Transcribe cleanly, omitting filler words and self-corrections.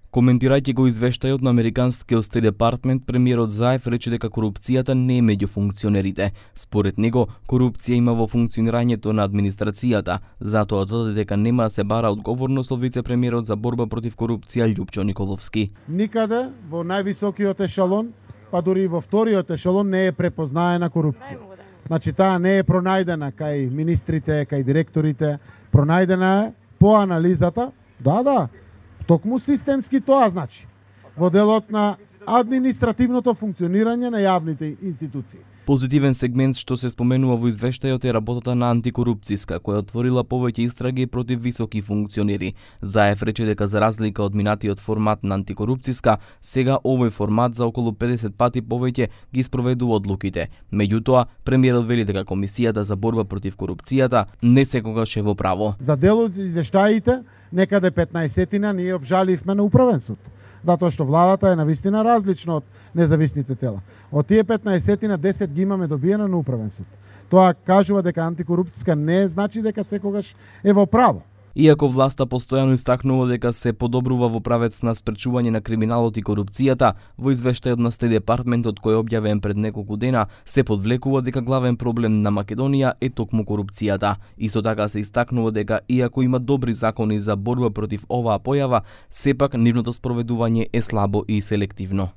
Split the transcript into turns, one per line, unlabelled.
Коментирајќи го извештајот на американскиот Стейт Департмент, премиерот Заев рече дека корупцијата не е меѓу функционерите. Според него, корупција има во функционирањето на администрацијата, затоа додаде дека нема да се бара одговорност од вице-премиерот за борба против корупција Љупчо Николовски.
Никаде во највисокиот ешелон, па дури и во вториот ешелон не е препознаена корупција. Значи таа не е пронајдена кај министрите, кај директорите, пронајдена е по анализата, да, токму системски тоа значи, во делот на административното функционирање на јавните институции.
Позитивен сегмент што се споменува во извештајот е работата на антикорупцијска, која отворила повеќе истраги против високи функционери. Заев рече дека за разлика од минатиот формат на антикорупцијска, сега овој формат за околу 50 пати повеќе ги спроведува одлуките. Меѓутоа, премиерот вели дека Комисијата за борба против корупцијата не секогаш е во право.
За дел од извештаите, некаде 15-тина ние обжаливме на управен суд, затоа што владата е навистина различно од независните тела. Од тие 15-тина 10 ги имаме добиено на управен суд. Тоа кажува дека антикорупцијска не значи дека секогаш е во право.
Иако власта постојано истакнува дека се подобрува во правец на спречување на криминалот и корупцијата, во извештајот на Стейт Департментот кој е објавен пред неколку дена, се подвлекува дека главен проблем на Македонија е токму корупцијата. Исто така се истакнува дека иако има добри закони за борба против оваа појава, сепак нивното спроведување е слабо и селективно.